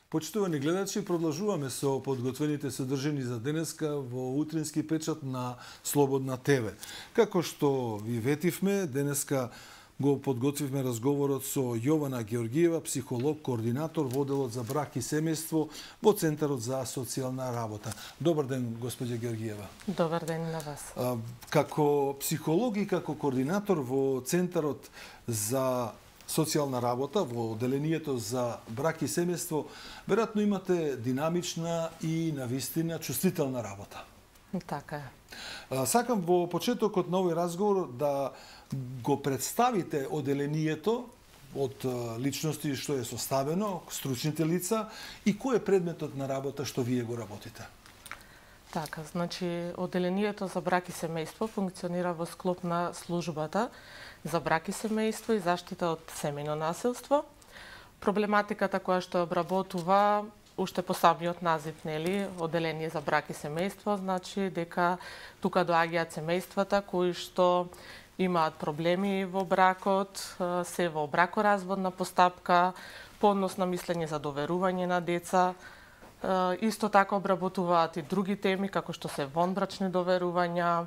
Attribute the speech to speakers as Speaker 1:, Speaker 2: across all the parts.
Speaker 1: Почитувани гледачи, продолжуваме со подготвените содржини за денеска во утрински печат на Слободна ТВ. Како што ви ветивме, денеска го подготвивме разговорот со Јована Георгиева, психолог, координатор во одделот за брак и семејство во Центарот за социјална работа. Добар ден, господја Георгиева.
Speaker 2: Добар ден на вас.
Speaker 1: Како психолог и како координатор во Центарот за социјална работа, во одделението за брак и семејство, веројатно имате динамична и навистина чувствителна работа.
Speaker 2: Така е.
Speaker 1: Сакам во почетокот на овој разговор да го представите одделението од личности што е составено, стручните лица и кој е предметот на работа што вие го работите.
Speaker 2: Така, значи одделението за брак и семејство функционира во склоп на службата за брак и семејство и заштита од семејно насилство. Проблематиката која што обработува уште по самиот назив, нели, одделение за брак и семејство, значи дека тука доаѓаат семејствата кои што имаат проблеми во бракот, се во бракоразводна постапка, по однос на мислење за доверување на деца. Исто така обработуваат и други теми, како што се вонбрачни доверувања,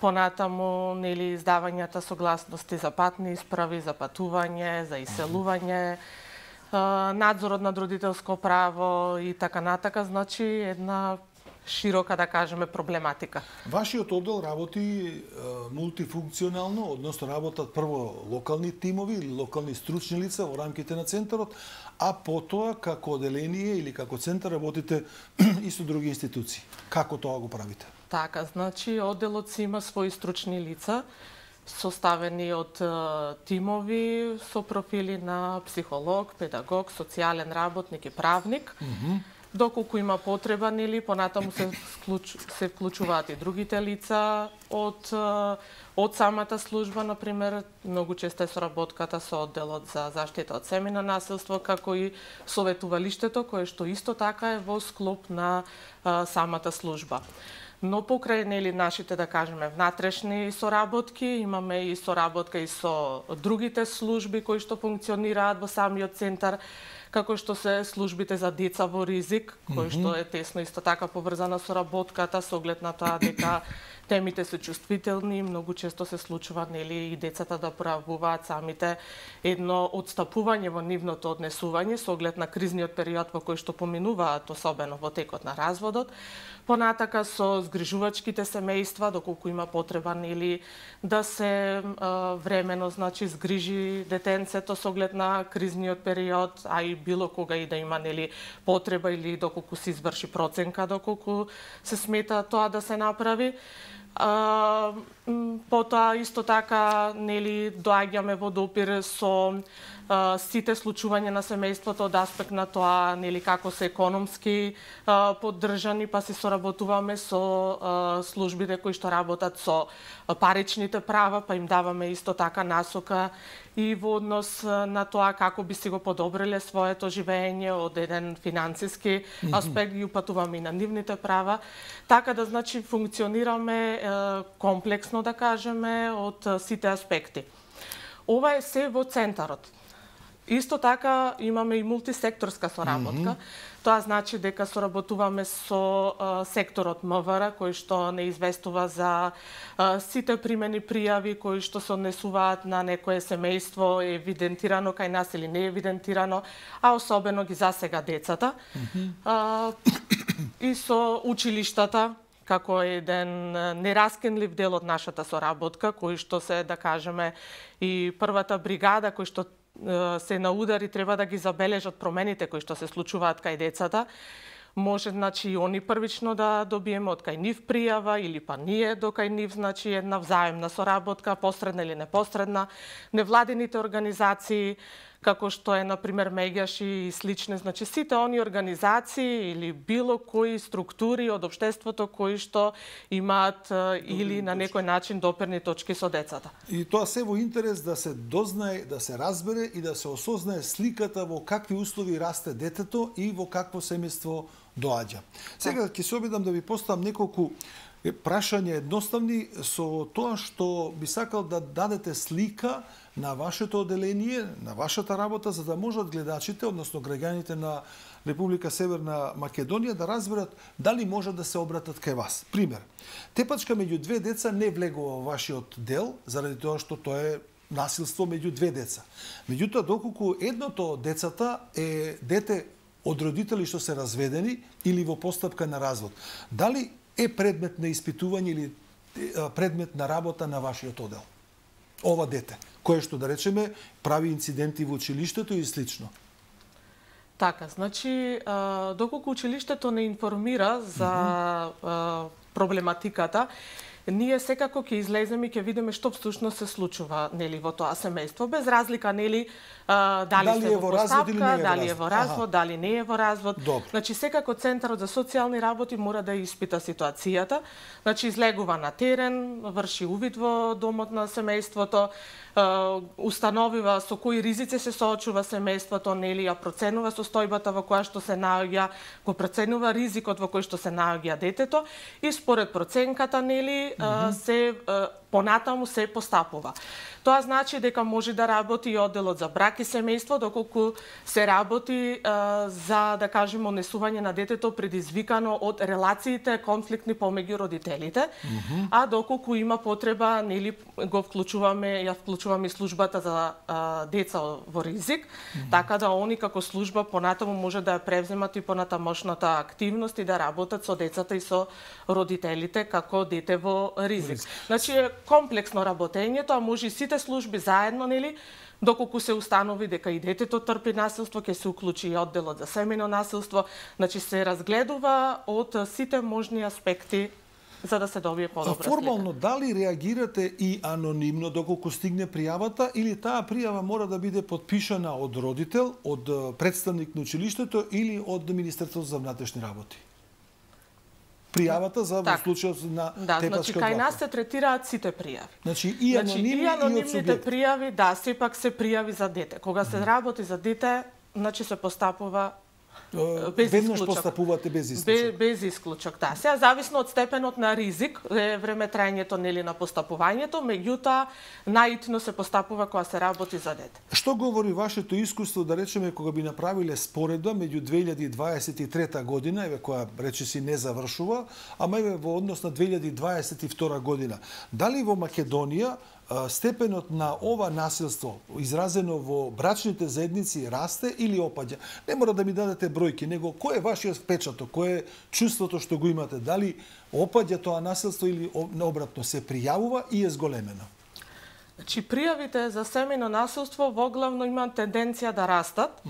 Speaker 2: понатаму, нели, издавањата согласности за патни исправи, за патување, за иселување, надзорот над родителско право и така натака, значи една широка, да кажеме, проблематика.
Speaker 1: Вашиот оддел работи мултифункционално, односно работат прво локални тимови или локални стручни лица во рамките на центарот, а потоа како одделение или како центар работите и со други институции. Како тоа го правите?
Speaker 2: Така, значи одделот си има своји стручни лица, составени од тимови со профили на психолог, педагог, социјален работник и правник. Доколку има потреба, нели, понатаму се вклучуваат и другите лица од самата служба, например, многу често е соработката со одделот за заштита од семејно насилство, како и советувалиштето, кое што исто така е во склоп на самата служба. Но покрај, нели, нашите, да кажеме, внатрешни соработки, имаме и соработка и со другите служби кои што функционираат во самиот центар, како што се службите за деца во ризик, кои што е тесно исто така поврзана со работката, со оглед на тоа дека темите се чувствителни, многу често се случува, нели, и децата да пројавуваат самите едно отстапување во нивното однесување со оглед на кризниот период во кој што поминуваат, особено во текот на разводот. Понатака со згрижувачките семејства, доколку има потреба, нели, да се времено, значи, згрижи детенцето со оглед на кризниот период, а и било кога и да има, нели, потреба или доколку се изврши проценка, доколку се смета тоа да се направи. Потоа исто така, нели, доаѓаме во допир со сите случувања на семејството од аспект на тоа, нели, како се економски поддржани, па се соработуваме со службите кои што работат со паричните права, па им даваме исто така насока и во однос на тоа како би си го подобриле своето живење од еден финансиски аспект, ги упатуваме и на нивните права. Така да, значи, функционираме комплексно, да кажеме, од сите аспекти. Ова е се во центарот. Исто така имаме и мултисекторска соработка. Тоа значи дека соработуваме со секторот МВР, кој што не известува за сите примени пријави кои што се однесуваат на некое семејство евидентирано кај нас или не евидентирано, а особено ги засега децата. И со училиштата, како еден нераскинлив дел од нашата соработка, кои што се, да кажеме, и првата бригада, кои што се на удар и треба да ги забележат промените кои што се случуваат кај децата. Може, значи, и они првично да добиеме од кај нив пријава или па ние до кај нив, значи, една взаемна соработка, посредна или непосредна. Невладините организации, како што е, например, Меѓаши и слични, значи, сите они организации или било кои структури од општеството кои што имаат или на некој начин доперни точки со децата.
Speaker 1: И тоа се во интерес да се дознае, да се разбере и да се осознае сликата во какви услови расте детето и во какво семејство доаѓа. Сега ќе се обидам да ви поставам неколку прашања едноставни со тоа што би сакал да дадете слика на вашето одделение, на вашата работа, за да можат гледачите, односно граѓаните на Република Северна Македонија да разберат дали може да се обратат кај вас. Пример, тепачка меѓу две деца не влегува во вашиот дел, заради тоа што тоа е насилство меѓу две деца. Меѓутоа, доколку едното од децата е дете од родители што се разведени или во постапка на развод, дали е предмет на испитување или предмет на работа на вашиот оддел? Ова дете, кое што, да речеме, прави инциденти во училиштето и слично.
Speaker 2: Така, значи, доколку училиштето не информира за проблематиката, ние секако ќе излеземе и ќе видиме што всушност се случува, нели, во тоа семејство, без разлика, нели, дали се во постапка, дали е во развод, дали не е во развод.
Speaker 1: Добре.
Speaker 2: Значи, секако Центарот за социјални работи мора да испита ситуацијата, значи, излегува на терен, врши увид во домот на семејството, установива со кои ризици се соочува семејството, нели, ја проценува состојбата во која што се наоѓа, го проценува ризикот во кој што се наоѓа детето и според проценката, нели, се понатаму се постапува. Тоа значи дека може да работи и одделот за брак и семејство, доколку се работи за, да кажеме, однесување на детето предизвикано од релациите конфликтни помеѓу родителите, а доколку има потреба, нели, ја вклучуваме и службата за деца во ризик, така да они како служба понатаму може да ја превземат и понатамошната активност и да работат со децата и со родителите како дете во ризик. Значи е комплексно работењето, а може и сите служби заедно, нели, доколку се установи дека и детето трпи насилство, ќе се уклучи и одделот за семејно насилство, значи се разгледува од сите можни аспекти за да се добие подобра слика.
Speaker 1: Формално, дали реагирате и анонимно доколку стигне пријавата или таа пријава мора да биде подпишана од родител, од представник на училиштето или од Министерството за внатрешни работи? Пријавата за во случајот на тепачка
Speaker 2: значи, кај нас се третираат сите пријави.
Speaker 1: Значи, и анонимни и од субјект.
Speaker 2: Пријави, сепак се пријави за дете. Кога се работи за дете, значи се постапува
Speaker 1: веднаш постапувате без исклучок.
Speaker 2: Без исклучок, да. Сега зависно од степенот на ризик, е време трајањето, нели, на постапувањето, меѓутоа наитно се постапува кога се работи за дете.
Speaker 1: Што говори вашето искуство, да речеме, кога би направиле споредба меѓу 2023 година, еве која речиси не завршува, ама еве во однос на 2022 година. Дали во Македонија степенот на ова насилство изразено во брачните заедници расте или опаѓа? Не мора да ми дадете бројки, него кој е вашиот впечаток, кој е чувството што го имате? Дали опаѓа тоа насилство или обратно се пријавува и е зголемено?
Speaker 2: Значи, пријавите за семејно насилство воглавно имаат тенденција да растат,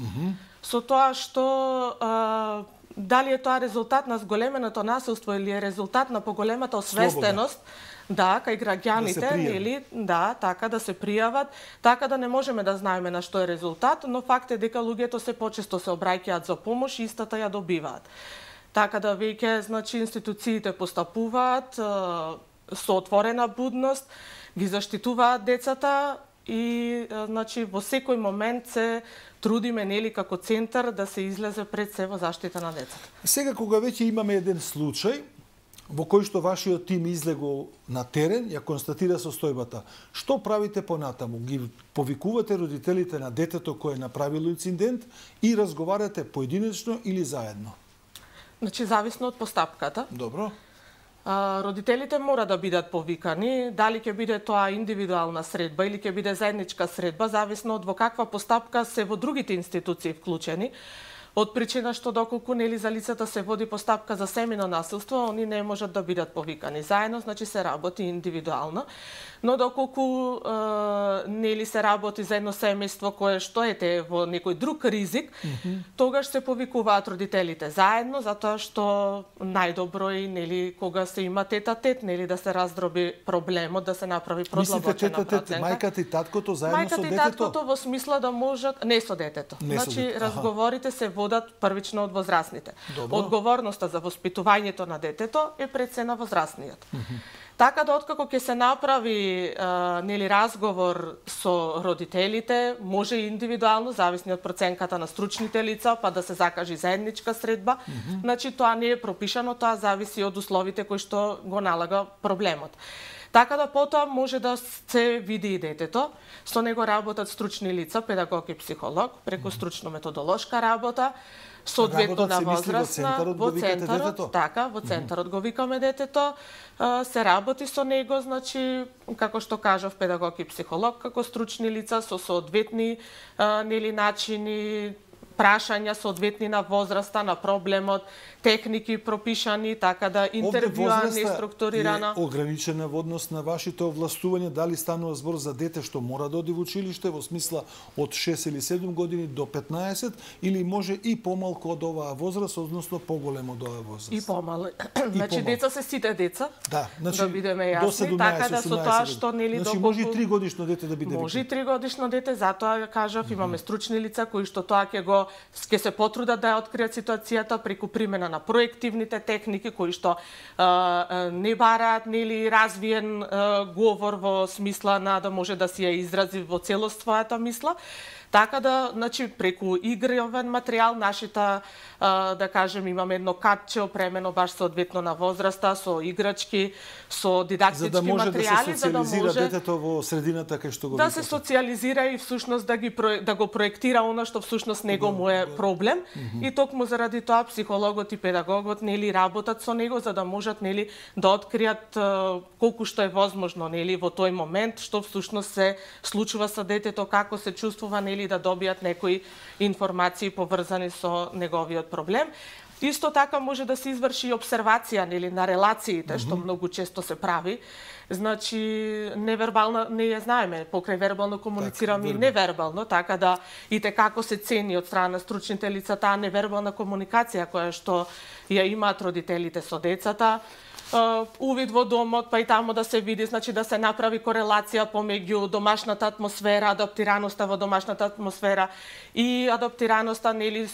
Speaker 2: со тоа што дали е тоа резултат на зголеменото насилство или е резултат на поголемата освестеност, кај граѓаните, нели, така да се пријават, така да не можеме да знаеме на што е резултат, но факт е дека луѓето се почесто се обраќаат за помош и истата ја добиваат. Така да веќе, значи, институциите постапуваат со отворена будност, ги заштитуваат децата и, значи, во секој момент се трудиме, нели, како центар да се излезе пред се во заштита на децата.
Speaker 1: Сега, кога веќе имаме еден случај во кој што вашиот тим излегол на терен, ја констатира состојбата, што правите понатаму? Ги повикувате родителите на детето кој е направило инцидент и разговарате поединечно или заедно?
Speaker 2: Значи, зависно од постапката.
Speaker 1: Добро.
Speaker 2: Родителите мора да бидат повикани, дали ќе биде тоа индивидуална средба или ќе биде заедничка средба, зависно од во каква постапка се во другите институции вклучени. Од причина што доколку, нели, за лицата се води постапка за семејно насилство, они не можат да бидат повикани заедно, значи се работи индивидуално. Но доколку нели се работи за едно семејство кое што ете во некој друг ризик, тогаш се повикуваат родителите заедно, затоа што најдобро е, нели, кога се има тет-а-тет, нели, да се раздроби проблемот, да се направи продлабочена проценка.
Speaker 1: Мајката и таткото заедно со детето?
Speaker 2: Мајката и таткото во смисла да можат, не со детето. Значи, разговорите се водат првично од возрастните.
Speaker 1: Добро.
Speaker 2: Одговорноста за воспитувањето на детето е пред се на возрастниот. Така да откако ќе се направи нели разговор со родителите, може и индивидуално, зависно од проценката на стручните лица, па да се закажи заедничка средба. Значи тоа не е пропишано, тоа зависи од условите кои што го налага проблемот. Така да потоа може да се види и детето, со него работат стручни лица, педагог и психолог, преку стручно-методолошка работа, соодветно на возрастна, во центарот, така, во центарот го викаме детето, се работи со него, значи, како што кажав, педагог и психолог, како стручни лица, со соодветни начини, прашања соодветни на возраста, на проблемот, техники пропишани, така да интервјуани структурирано.
Speaker 1: Овде ограничена во однос на вашите овластувања, дали станува збор за дете што мора да оди во училиште, во смисла од 6 или 7 години до 15, или може и помалку од оваа возраст, односно поголемо од оваа возраст?
Speaker 2: И помалку. Значи, деца се сите деца,
Speaker 1: да
Speaker 2: бидеме јасни, така да со тоа што нели
Speaker 1: доколку... може и 3 годишно дете да биде.
Speaker 2: Може и 3 годишно дете, затоа кажав, имаме стручни лица кои што тоа ќе се потрудат да ја откријат ситуацијата преку примена на проективните техники кои што не бараат нели развиен говор во смисла на да може да си ја изрази во целост својата мисла. Така да, значи, преку игровен материјал, нашите, да кажем, имаме едно катче опремено баш соодветно на возраста, со играчки, со дидактички материјали,
Speaker 1: за да може детето во средината кај што го
Speaker 2: да се социализира и всушност да го проектира она што всушност него му е проблем. И токму заради тоа психологот и педагогот нели работат со него за да можат нели да откријат колку што е возможно нели во тој момент што всушност се случува со детето, како се чувствува нели да добијат некои информации поврзани со неговиот проблем. Исто така може да се изврши обсервација нели на релациите, што многу често се прави. Значи невербално не ја знаеме, покрај вербално комуницираме и невербално, така да и како се цени од страна на стручните лица таа невербална комуникација која што ја имаат родителите со децата. Увид во домот, па и таму да се види, значи да се направи корелација помеѓу домашната атмосфера, адаптираноста во домашната атмосфера и адаптираноста, нели,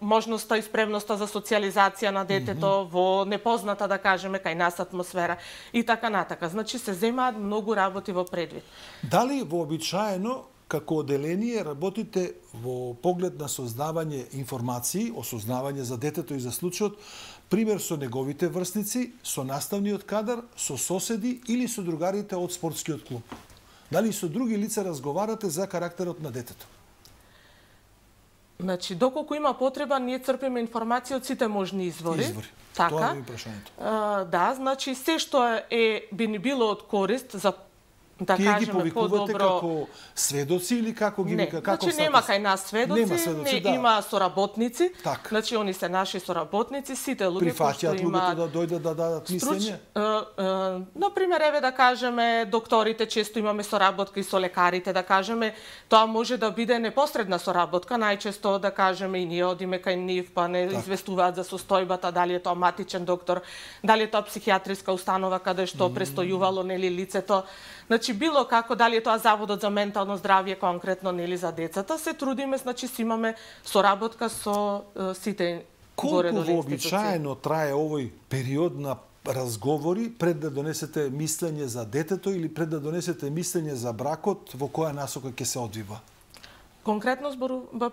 Speaker 2: можноста и спремноста за социализација на детето во непозната, да кажеме, кај нас атмосфера и така натака. Значи се земаат многу работи во предвид.
Speaker 1: Дали вообичаено како оделение работите во поглед на создавање информации, осознавање за детето и за случајот, пример со неговите врсници, со наставниот кадар, со соседи или со другарите од спортскиот клуб? Дали со други лица разговарате за карактерот на детето?
Speaker 2: Значи, доколку има потреба, ние црпиме информација од сите можни извори. Така.
Speaker 1: Тоа е прашањето.
Speaker 2: Да, значи се што би ни било од корист за да
Speaker 1: тие
Speaker 2: кажеме
Speaker 1: ги повикувате како сведоци или како ги вика како
Speaker 2: значи нема кај нас сведоци, има соработници. Значи они се наши соработници, сите луѓе кои што имаат
Speaker 1: да дојдат да дадат мислење.
Speaker 2: На пример, еве да кажеме докторите, често имаме соработка и со лекарите, да кажеме, тоа може да биде непосредна соработка, најчесто да кажеме и ние одиме кај нив, па не известуваат за состојбата, дали е тоа матичен доктор, дали е тоа психијатриска установа каде што престојувало нели лицето. Значи било како, дали е тоа Заводот за ментално здравје конкретно нели за децата, се трудиме, значи си имаме соработка со сите горе доле институции.
Speaker 1: Колку вообичаено трае овој период на разговори пред да донесете мислење за детето или пред да донесете мислење за бракот, во која насока ќе се одвива?
Speaker 2: Конкретно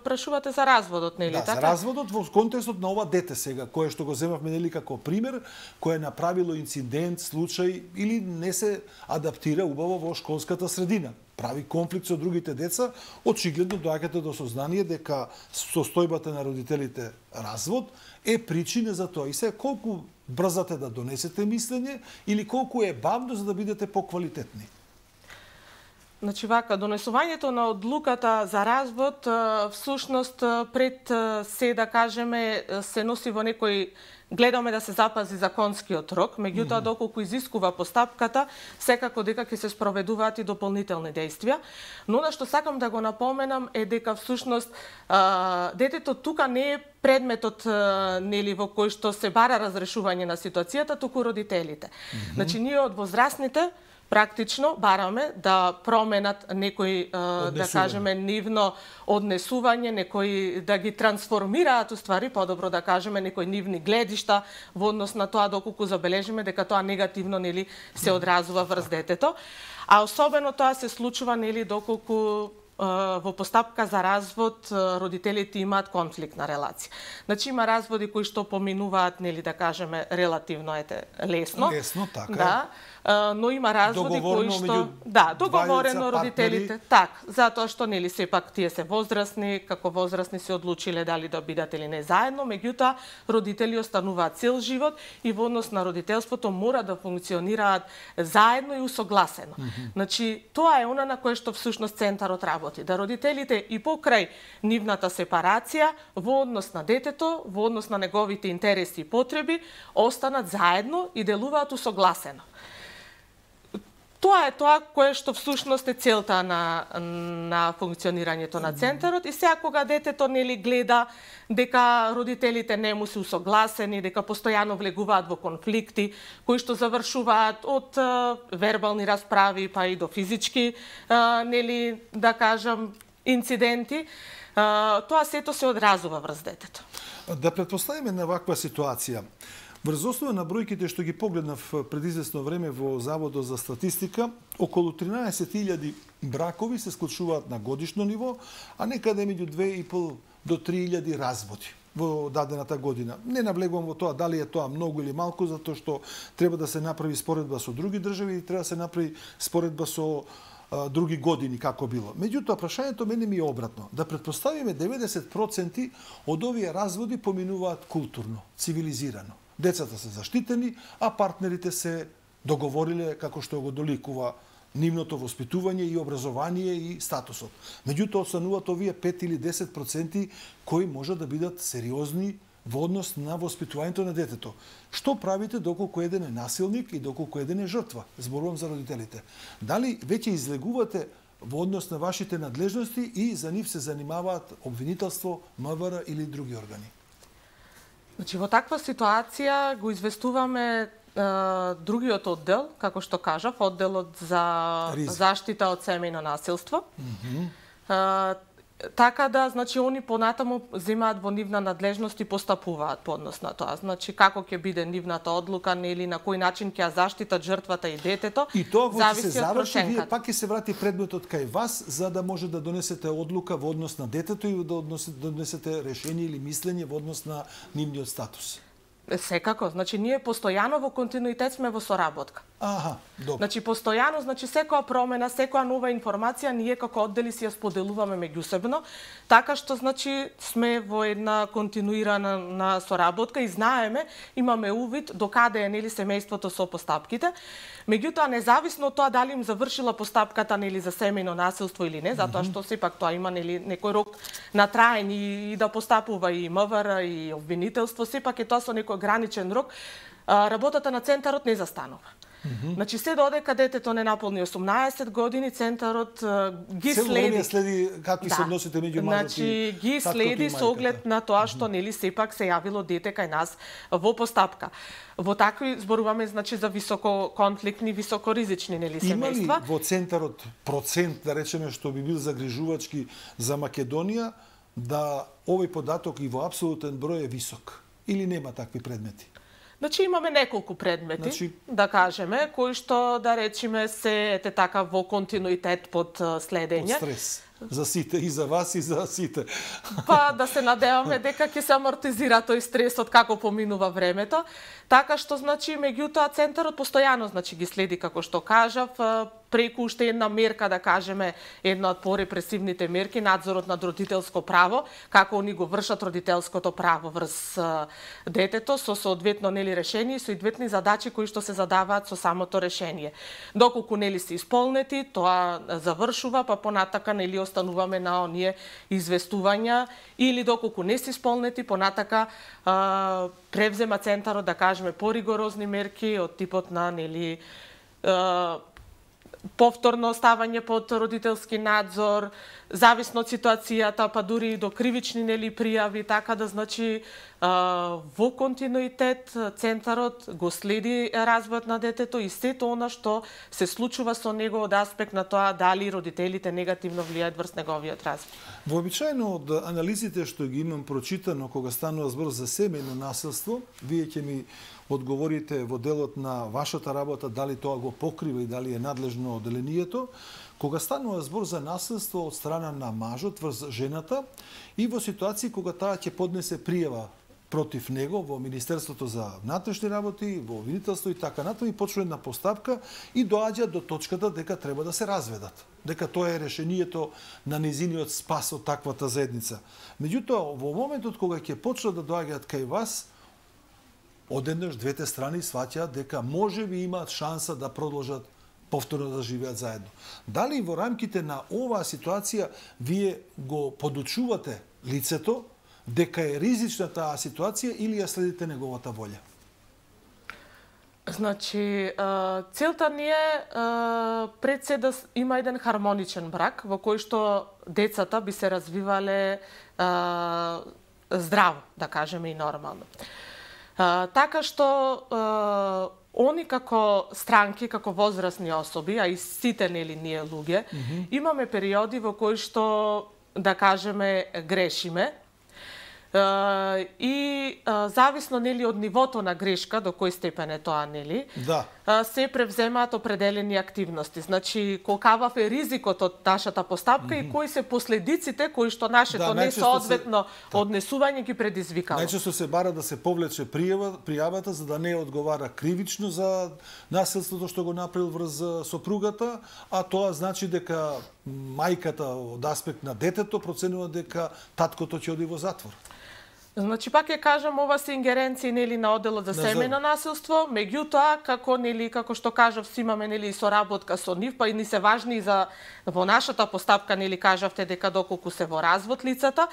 Speaker 2: прашувате за разводот, нели така?
Speaker 1: Да, за разводот во контекстот на ова дете сега, кое што го земавме нели како пример, кое направило инцидент, случај или не се адаптира убаво во школската средина. Прави конфликт со другите деца, очигледно доаѓате до сознание дека состојбата на родителите развод е причина за тоа. И се колку брзате да донесете мислење или колку е бавно за да бидете поквалитетни?
Speaker 2: Значи вака, донесувањето на одлуката за развод всушност пред се да кажеме се носи во некој гледаме да се запази законскиот рок, меѓутоа доколку изискува постапката, секако дека ќе се спроведуваат и дополнителни действија. Но на што сакам да го напоменам е дека всушност детето тука не е предметот нели во кој што се бара разрешување на ситуацијата, туку родителите. Значи ние од возрастните практично бараме да променат некои, да кажеме, нивно однесување, некои да ги трансформираат уствари, подобро да кажеме, некои нивни гледишта во однос на тоа доколку забележиме дека тоа негативно нели се одразува врз детето. А особено тоа се случува нели доколку во постапка за развод родителите имаат конфликтна релација. Значи има разводи кои што поминуваат нели да кажеме релативно лесно.
Speaker 1: Лесно, така.
Speaker 2: Да. но има разводи кои што договорено родителите, затоа што нели сепак тие се возрастни, како возрастни се одлучиле дали да бидат или не заедно, меѓутоа родители остануваат цел живот и во однос на родителството мора да функционираат заедно и усогласено. Значи, тоа е она на кое што всушност центарот работи, да родителите и покрај нивната сепарација во однос на детето, во однос на неговите интереси и потреби, останат заедно и делуваат усогласено. Тоа е тоа кое што всушност е целта на функционирањето на центарот и сега кога детето нели гледа дека родителите не му се усогласени, дека постојано влегуваат во конфликти кои што завршуваат од вербални расправи па и до физички нели да кажам инциденти, тоа сето се одразува врз детето.
Speaker 1: Да претпоставиме на ваква ситуација. Врз основа на бројките што ги погледнав пред известно време во Заводот за статистика, околу 13.000 бракови се склучуваат на годишно ниво, а некаде меѓу 2.500 до 3.000 разводи во дадената година. Не навлегувам во тоа дали е тоа многу или малку, затоа што треба да се направи споредба со други држави и треба да се направи споредба со други години како било. Меѓутоа, прашањето мене ми е обратно. Да претпоставиме 90% од овие разводи поминуваат културно, цивилизирано. Децата се заштитени, а партнерите се договориле како што го доликува нивното воспитување и образование и статусот. Меѓутоа, остануваат овие 5 или 10% кои може да бидат сериозни во однос на воспитувањето на детето. Што правите доколку еден е насилник и доколку еден е жртва? Зборувам за родителите. Дали веќе излегувате во однос на вашите надлежности и за нив се занимаваат обвинителство, МВР или други органи?
Speaker 2: Значи, во таква ситуација го известуваме другиот оддел, како што кажав, одделот за заштита од семејно насилство. Така да, значи, они понатаму земаат во нивна надлежност и постапуваат по однос на тоа. Значи, како ќе биде нивната одлука, нели, на кој начин ќе ја заштитат жртвата и детето,
Speaker 1: и тоа кога се заврши, вие пак ќе се врати предметот кај вас, за да може да донесете одлука во однос на детето и да донесете решение или мислење во однос на нивниот статус.
Speaker 2: Секако, значи ние постојано во континуитет сме во соработка.
Speaker 1: Добро.
Speaker 2: Значи постојано, значи секоја промена, секоја нова информација ние како оддели си ја споделуваме меѓусебно, така што значи сме во една континуирана соработка и знаеме, имаме увид до каде е нели семејството со постапките. Меѓутоа независно од тоа дали им завршила постапката нели за семејно насилство или не, затоа што сепак тоа има нели некој рок на траење и да постапува и МВР и обвинителство, сепак е тоа со некој граничен рок, работата на центарот не застанува. Значи се додека детето не наполни 18 години, центарот ги следи.
Speaker 1: Следи какви се односите меѓу мажот и
Speaker 2: ги следи со оглед на тоа што нели сепак се јавило дете кај нас во постапка. Во такви зборуваме значи за висококонфликтни, високоризични нели семејства.
Speaker 1: Има ли во центарот процент, да речеме, што би бил загрижувачки за Македонија, да овој податок и во апсолутен број е висок? Или нема такви предмети?
Speaker 2: Значи имаме неколку предмети, да кажеме, кои што да речеме се така во континуитет под следење.
Speaker 1: Под стрес. За сите, и за вас, и за сите.
Speaker 2: Па да се надеваме дека ќе се амортизира тој стресот како поминува времето. Така што, значи, меѓутоа, центарот постојано, значи, ги следи, како што кажав, преку уште една мерка, да кажеме, една од порепресивните мерки, надзорот над родителско право, како они го вршат родителското право врз детето, со соодветно, нели, решение и соодветни задачи кои што се задаваат со самото решение. Доколку, нели, се исполнети, тоа завршува, па понатака, нели, остануваме на оние известувања, или доколку не се исполнети, понатака превзема центарот, да кажеме, поригорозни мерки од типот на, нели, повторно оставање под родителски надзор, зависно од ситуацијата, па дури и до кривични нели пријави, така да значи во континуитет центарот го следи развојот на детето и сето она што се случува со него од аспект на тоа дали родителите негативно влијаат врз неговиот развој.
Speaker 1: Вообичаено од анализите што ги имам прочитано кога станува збор за семејно насилство, вие ќе ми одговорите во делот на вашата работа дали тоа го покрива и дали е надлежно одделението, кога станува збор за насилство од страна на мажот врз жената и во ситуации кога таа ќе поднесе пријава против него во Министерството за внатрешни работи, во обвинителство и така натаму, и почнува една постапка и доаѓа до точката дека треба да се разведат. Дека тоа е решението на низиниот спас од таквата заедница. Меѓутоа, во моментот кога ќе почнат да доаѓаат кај вас, одеднаш двете страни сваќаат дека можеби имаат шанса да продолжат повторно да живеат заедно. Дали во рамките на оваа ситуација вие го подучувате лицето дека е ризична таа ситуација или ја следите неговата волја?
Speaker 2: Значи, целта ни е пред се да има еден хармоничен брак во кој што децата би се развивале здраво, да кажеме, и нормално. Така што они како странки, како возрастни особи, а и сите нели ние луѓе, имаме периоди во кои што, да кажеме, грешиме. И зависно нели од нивото на грешка, до кој степен е тоа, нели, се превземаат определени активности. Значи, колкавав е ризикот од нашата постапка и кои се последиците кои што нашето несоодветно однесување ги предизвикало.
Speaker 1: Најчесто се бара да се повлече пријавата за да не одговара кривично за насилството што го направил врз сопругата, а тоа значи дека мајката од аспект на детето проценува дека таткото ќе оди во затвор.
Speaker 2: Значи, пак ја кажам, ова се ингеренции нели на одделот за семејно насилство, меѓутоа како што кажав, си имаме нели соработка со нив, па и ни се важни за во нашата постапка нели кажавте дека доколку се во развод лицата,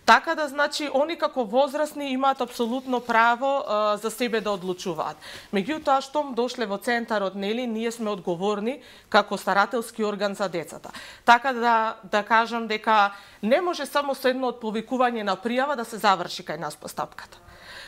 Speaker 2: така да значи они како возрастни имаат апсолутно право за себе да одлучуваат. Меѓутоа штом дошле во центарот нели ние сме одговорни како старателски орган за децата. Така да кажам дека не може само со едно повикување на пријава да се заврши кај нас постапката.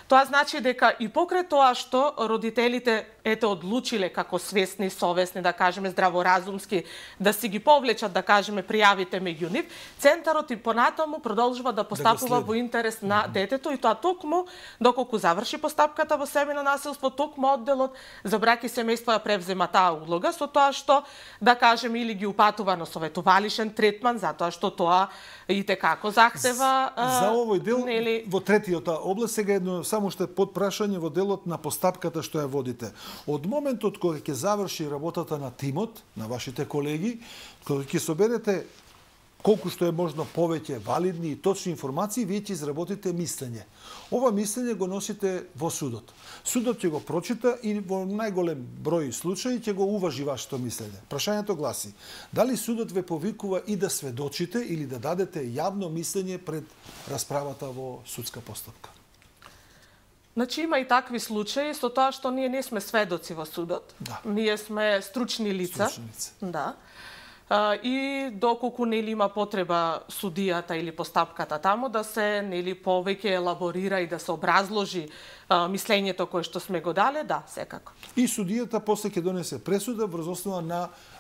Speaker 2: Тоа значи дека и покрај тоа што родителите одлучиле како свесни, совесни, да кажеме здраворазумски, да си ги повлечат, да кажеме, пријавите меѓу нив, центарот и понатаму продолжува да постапува во интерес на детето и тоа токму доколку заврши постапката во семејно насилство, токму одделот за брак и семејство ја превзема таа улога со тоа што, да кажеме, или ги упатува на советувалишен третман, затоа што тоа и како захтева
Speaker 1: за овој дел во третиот област сега едно само што е подпрашање во делот на постапката што ја водите. Од моментот кога ќе заврши работата на тимот, на вашите колеги, кога ќе соберете колку што е можно повеќе валидни и точни информации, вие ќе изработите мислење. Ова мислење го носите во судот. Судот ќе го прочита и во најголем број случаи ќе го уважи вашето мислење. Прашањето гласи: дали судот ве повикува и да сведочите или да дадете јавно мислење пред расправата во судска постапка?
Speaker 2: Значи има и такви случаи со тоа што ние не сме сведоци во судот. Ние сме стручни лица. Да. И доколку нели има потреба судијата или постапката таму да се нели повеќе елаборира и да се образложи мислењето кое што сме го дале, да, секако.
Speaker 1: И судијата после ќе донесе пресуда врз основа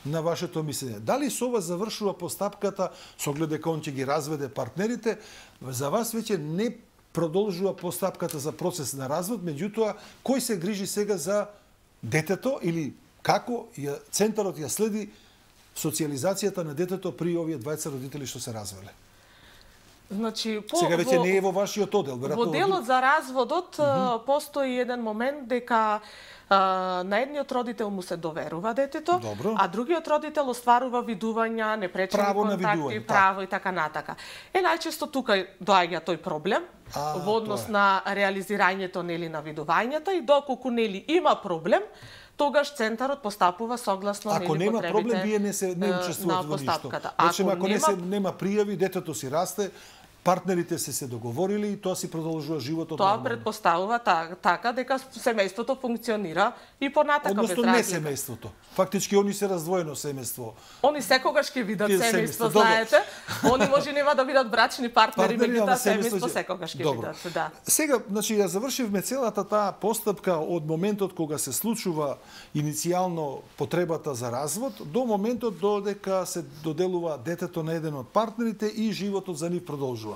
Speaker 1: на вашето мислење. Дали со ова завршува постапката со оглед дека он ќе ги разведе партнерите, за вас веќе не продолжува постапката за процес на развод, меѓутоа кој се грижи сега за детето или како центарот ја следи социјализацијата на детето при овие двајца родители што се развеле?
Speaker 2: Значи,
Speaker 1: сега веќе не е во вашиот оддел, веројатно.
Speaker 2: Во делот за разводот постои еден момент дека на едниот родител му се доверува детето, а другиот родител остварува видувања, непречени контакти, право и така натака. Најчесто тука доаѓа тој проблем во однос на реализирањето нели на видувањата и доколку нели има проблем, тогаш центарот постапува согласно нели потребите. Ако нема проблем, вие не учествувате во ништо.
Speaker 1: Ако нема пријави, детето си расте, партнерите се договорили и тоа си продолжува животот
Speaker 2: нормално. Тоа предпоставува така дека семејството функционира и понатака без разлика.
Speaker 1: Односно не семејството. Фактички они се раздвоено семејство.
Speaker 2: Они секогаш ќе видат семејство, знаете. Они може нема да видат брачни партнери, меѓутоа семејство секогаш ќе видат, да.
Speaker 1: Сега, значи ја завршивме целата таа постапка од моментот кога се случува иницијално потребата за развод до моментот додека се доделува детето на еден од партнерите и животот за нив продолжува.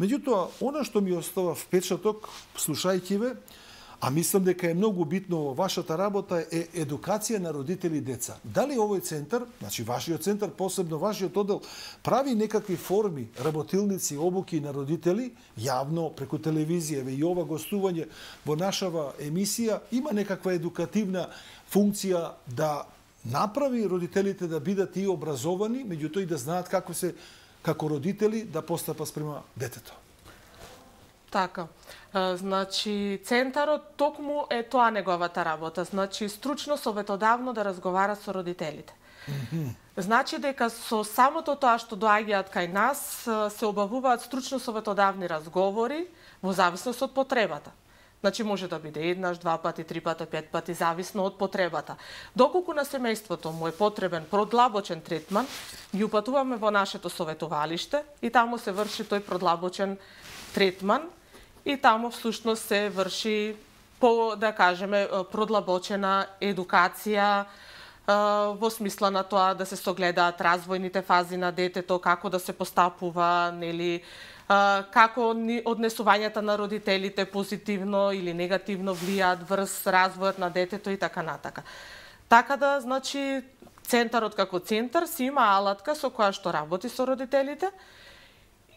Speaker 1: Меѓутоа, она што ми остава впечаток, слушајќи ве, А мислам дека е многу битно во вашата работа е едукација на родители и деца. Дали овој центар, значи вашиот центар, посебно вашиот оддел, прави некакви форми, работилници, обуки на родители, јавно, преку телевизија, и ова гостување во нашава емисија, има некаква едукативна функција да направи родителите да бидат и образовани, меѓутоа и да знаат како се, како родители, да постапат спрема детето.
Speaker 2: Така. Значи, центарот токму е тоа неговата работа. Значи, стручно советодавно да разговара со родителите. Значи дека со самото тоа што доаѓаат кај нас, се обавуваат стручно советодавни разговори во зависност од потребата. Значи, може да биде еднаш, 2 пати, 3 пати, 5 пати, зависно од потребата. Доколку на семејството му е потребен продлабочен третман, ги упатуваме во нашето советувалиште и таму се врши тој продлабочен третман, и таму всушност се врши по, да кажеме, продлабочена едукација во смисла на тоа да се согледаат развојните фази на детето, како да се постапува, нели, како однесувањата на родителите позитивно или негативно влијаат врз развојот на детето и така натака. Така да, значи, центарот како центар си има алатка со која што работи со родителите,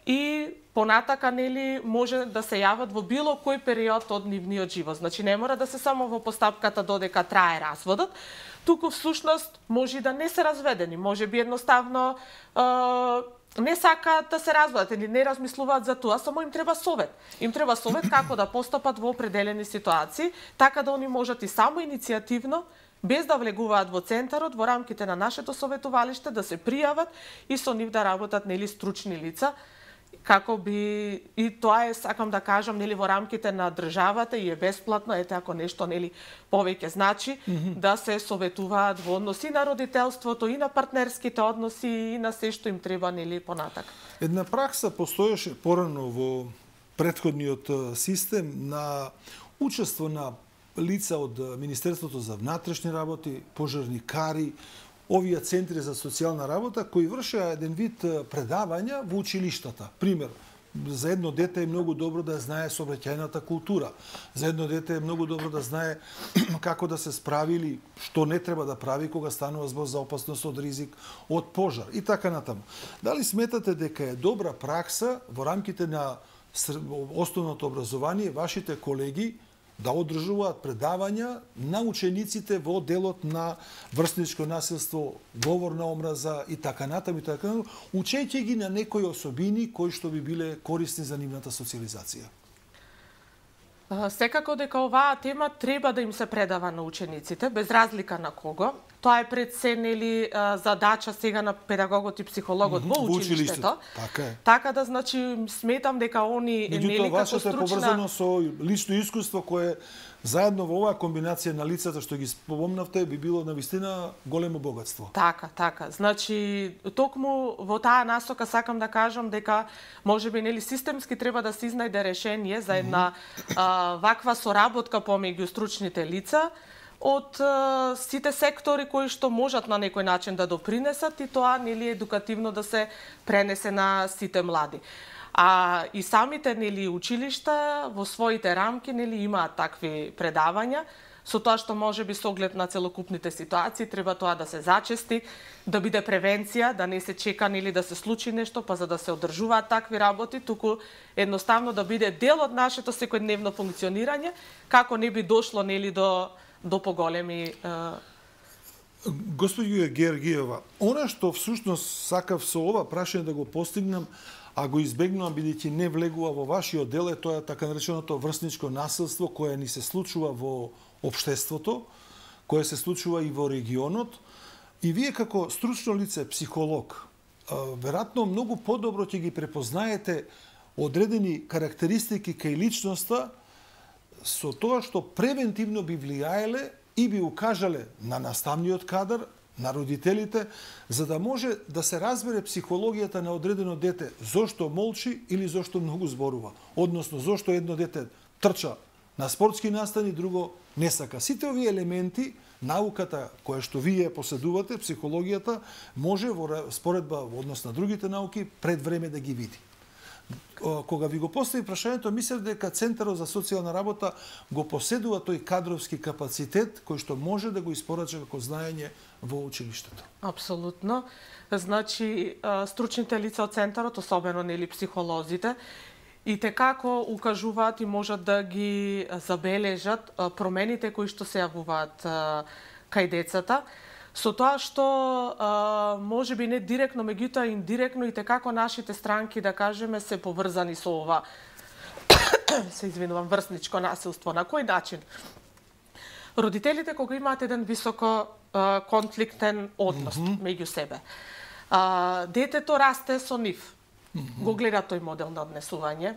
Speaker 2: и понатака, нели, може да се јават во било кој период од нивниот живот. Значи, не мора да се само во постапката додека трае разводот, туку всушност може да не се разведени, може би едноставно не сакаат да се разводат или не размислуваат за тоа, само им треба совет. Им треба совет како да постапат во определени ситуации, така да они можат и само иницијативно, без да влегуваат во центарот, во рамките на нашето советувалиште, да се пријават и со нив да работат, нели, стручни лица, како би, и тоа е, сакам да кажам, нели, во рамките на државата и е бесплатно, ете, ако нешто, нели, повеќе значи, да се советуваат во односи на родителството и на партнерските односи и на се што им треба, нели, понатака.
Speaker 1: Една пракса постоеше порано во претходниот систем на учество на лица од Министерството за внатрешни работи, пожарникари, овие центри за социјална работа кои вршеа еден вид предавања во училиштата. Пример, за едно дете е многу добро да знае сообраќајната култура. За едно дете е многу добро да знае како да се справи или што не треба да прави кога станува збор за опасност од ризик од пожар и така натаму. Дали сметате дека е добра пракса во рамките на основното образование вашите колеги да одржуваат предавања на учениците во делот на врсничко насилство, говорна омраза и така натаму, учејќи ги на некои особини кои што би биле корисни за нивната социјализација?
Speaker 2: Секако дека оваа тема треба да им се предава на учениците, без разлика на кого. Тоа е пред се, нели, задача сега на педагогот и психологот во училиштето.
Speaker 1: Така е.
Speaker 2: Така да, значи, сметам дека они, нели, како стручна...
Speaker 1: Вашето е поврзано со лично искуство кое заедно во оваа комбинација на лицата што ги спомнавте би било навистина големо богатство.
Speaker 2: Така, така. Значи, токму во таа насока сакам да кажам дека можеби, нели, системски треба да се изнајде решение за една ваква соработка помеѓу стручните лица од сите сектори кои што можат на некој начин да допринесат и тоа, нели, едукативно да се пренесе на сите млади. А и самите, нели, училишта во своите рамки, нели, имаат такви предавања, со тоа што може би со оглед на целокупните ситуации треба тоа да се зачести, да биде превенција, да не се чека, нели, да се случи нешто, па за да се одржуваат такви работи, туку едноставно да биде дел од нашето секојдневно функционирање, како не би дошло, нели, до поголеми...
Speaker 1: Господјо Георгиева, она што всушност сакав со ова прашање да го постигнам, а го избегнувам бидејќи не влегува во вашиот дел, е тоа така нареченото врсничко насилство кое ни се случува во општеството, кое се случува и во регионот. И вие како стручно лице, психолог, веројатно многу подобро ќе ги препознаете одредени карактеристики кај личноста со тоа што превентивно би влијаеле и би укажале на наставниот кадар, на родителите, за да може да се разбере психологијата на одредено дете, зошто молчи или зошто многу зборува. Односно, зошто едно дете трча на спортски настани, друго не сака. Сите овие елементи, науката која што вие поседувате, психологијата, може во споредба во однос на другите науки пред време да ги види. Кога ви го постави прашањето, мислев дека Центарот за социјална работа го поседува тој кадровски капацитет кој што може да го испорача како знаење во училиштето.
Speaker 2: Апсолутно. Значи, стручните лица од Центарот, особено нели психолозите, и како укажуваат и можат да ги забележат промените кои што се јавуваат кај децата, со тоа што може би не директно, меѓутоа индиректно и како нашите странки, да кажеме, се поврзани со ова врсничко насилство. На кој начин? Родителите кога имаат еден високо конфликтен однос меѓу себе, детето расте со нив. Го гледа тој модел на однесување,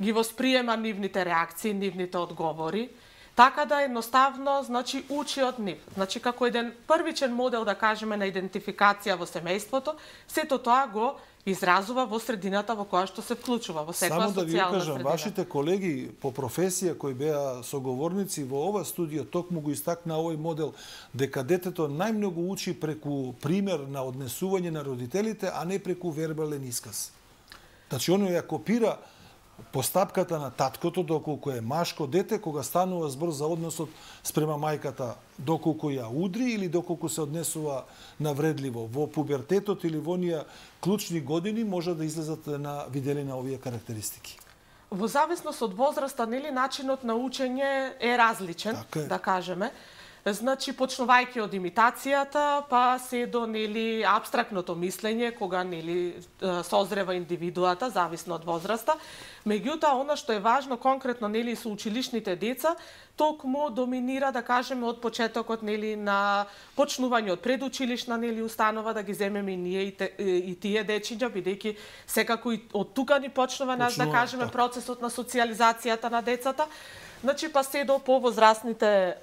Speaker 2: ги восприема нивните реакции, нивните одговори, така да едноставно, значи, учи од нив. Значи, како еден првичен модел, да кажеме, на идентификација во семејството, сето тоа го изразува во средината во која што се вклучува, во секоја социјална средина.
Speaker 1: Само да ви кажам, вашите колеги по професија кои беа соговорници во ова студио токму го истакна овој модел, дека детето најмногу учи преку пример на однесување на родителите, а не преку вербален исказ. Значи, оно ја копира постапката на таткото, доколку е машко дете, кога станува збор за односот спрема мајката, доколку ја удри или доколку се однесува навредливо. Во пубертетот или во оние клучни години може да излезат на видели на овие карактеристики.
Speaker 2: Во зависност од возраста, нели, начинот на учење е различен, да кажеме. Значи, почнувајќи од имитацијата, па се до, нели, апстрактното мислење, кога, нели, созрева индивидуата, зависно од возраста. Меѓутоа, она што е важно конкретно, нели, со училишните деца, токму доминира, да кажеме, од почетокот, нели, на почнување од предучилишна, нели, установа, да ги земеме и ние и тие дечиња, бидејќи секако и од тука ни почнува наш, да кажеме, процесот на социјализацијата на децата. Значи, па се до повозрастните,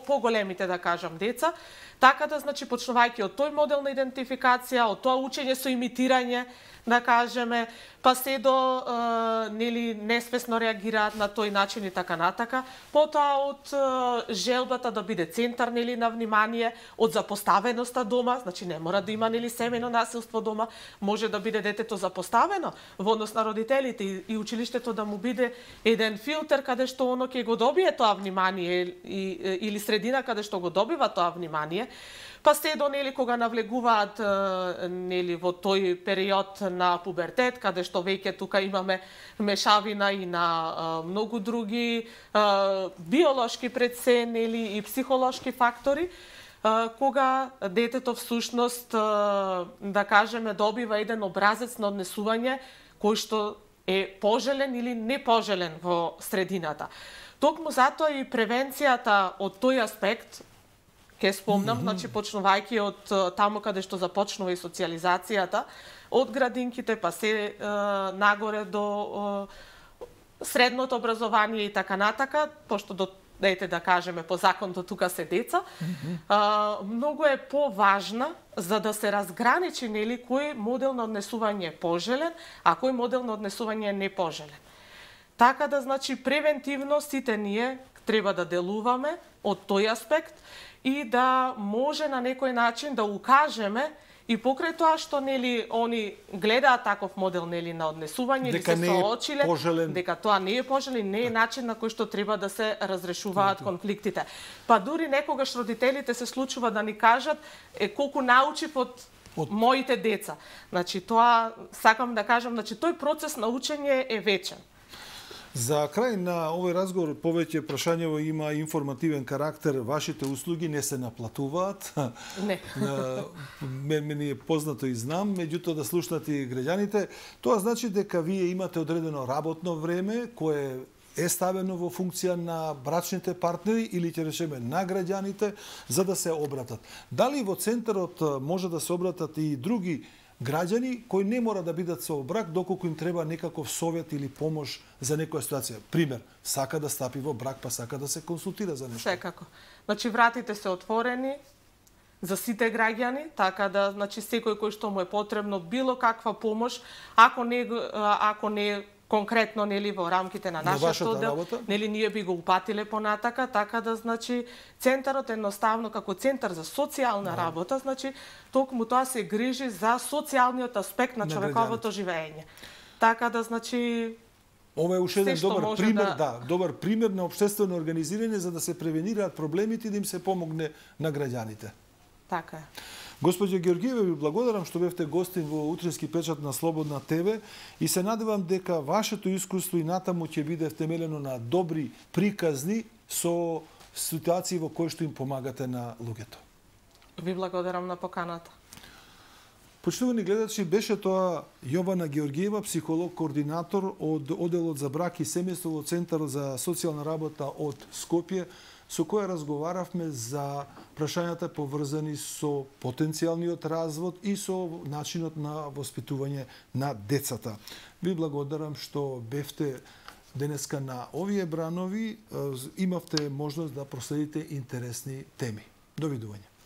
Speaker 2: поголемите, да кажам, деца. Така да, значи, почнувајќи од тој модел на идентификација, од тоа учење со имитирање, да кажеме, па се до нели несвесно реагираат на тој начин и така натака. Потоа од желбата да биде центар, нели, на внимание, од запоставеноста дома, значи не мора да има, нели, семејно насилство дома, може да биде детето запоставено во однос на родителите и училиштето да му биде еден филтер каде што оно ќе го добие тоа внимание или средина каде што го добива тоа внимание. Па се до, нели, кога навлегуваат, нели, во тој период на пубертет, каде што веќе тука имаме мешавина и на многу други биолошки пред се, нели, и психолошки фактори, кога детето всушност, да кажеме, добива еден образец на однесување кој што е пожелен или непожелен во средината. Токму затоа и превенцијата од тој аспект, ке спомнам, значи, почнувајќи од таму каде што започнува и социјализацијата, од градинките па се нагоре до средното образование и така натака, пошто до дете, да кажеме, по закон до тука се деца, многу е поважна за да се разграничи, нели, кој модел на однесување е пожелен, а кој модел на однесување е непожелен. Така да, значи, превентивно сите ние треба да делуваме од тој аспект и да може на некој начин да укажеме и покрај тоа што, нели, они гледаат таков модел, нели, на однесување или се соочиле, дека тоа не е пожелен, не е начин на кој што треба да се разрешуваат конфликтите. Па дури некогаш родителите се случува да ни кажат колку научив од моите деца. Значи, тоа сакам да кажам, значи, тој процес на учење е вечен.
Speaker 1: За крај на овој разговор повеќе прашањево има информативен карактер. Вашите услуги не се наплатуваат.
Speaker 2: Не.
Speaker 1: Мене е познато и знам, меѓутоа да слушнат и граѓаните. Тоа значи дека вие имате одредено работно време кое е ставено во функција на брачните партнери или ќе речеме на граѓаните за да се обратат. Дали во центарот може да се обратат и други граѓани кои не мора да бидат со брак доколку им треба некаков совет или помош за некоја ситуација. Пример, сака да стапи во брак, па сака да се консултира за нешто.
Speaker 2: Секако. Значи, вратите се отворени за сите граѓани, така да, значи, секој кој што му е потребно било каква помош, ако не конкретно, нели, во рамките на нашиот оддел, нели, ние би го упатиле понатака, така да, значи, центарот едноставно како центар за социјална работа, значи, токму тоа се грижи за социјалниот аспект на човековото живење. Така да, значи,
Speaker 1: Ова е уште еден
Speaker 2: се што
Speaker 1: добар
Speaker 2: може
Speaker 1: пример,
Speaker 2: да-
Speaker 1: добар пример на општествено организирање за да се превенираат проблемите и да им се помогне на граѓаните.
Speaker 2: така е.
Speaker 1: Госпоѓо Георгиева, ви благодарам што бевте гостин во утрински печат на Слободна ТВ и се надевам дека вашето искуство и натаму ќе биде втемелено на добри приказни со ситуации во кои што им помагате на луѓето.
Speaker 2: Ви благодарам на поканата.
Speaker 1: Почитувани гледачи, беше тоа Јована Георгиева, психолог, координатор од Оделот за брак и семејство во Центарот за социјална работа од Скопје, со која разговаравме за прашањата поврзани со потенцијалниот развод и со начинот на воспитување на децата. Ви благодарам што бевте денеска на овие бранови, имавте можност да проследите интересни теми. Довидување.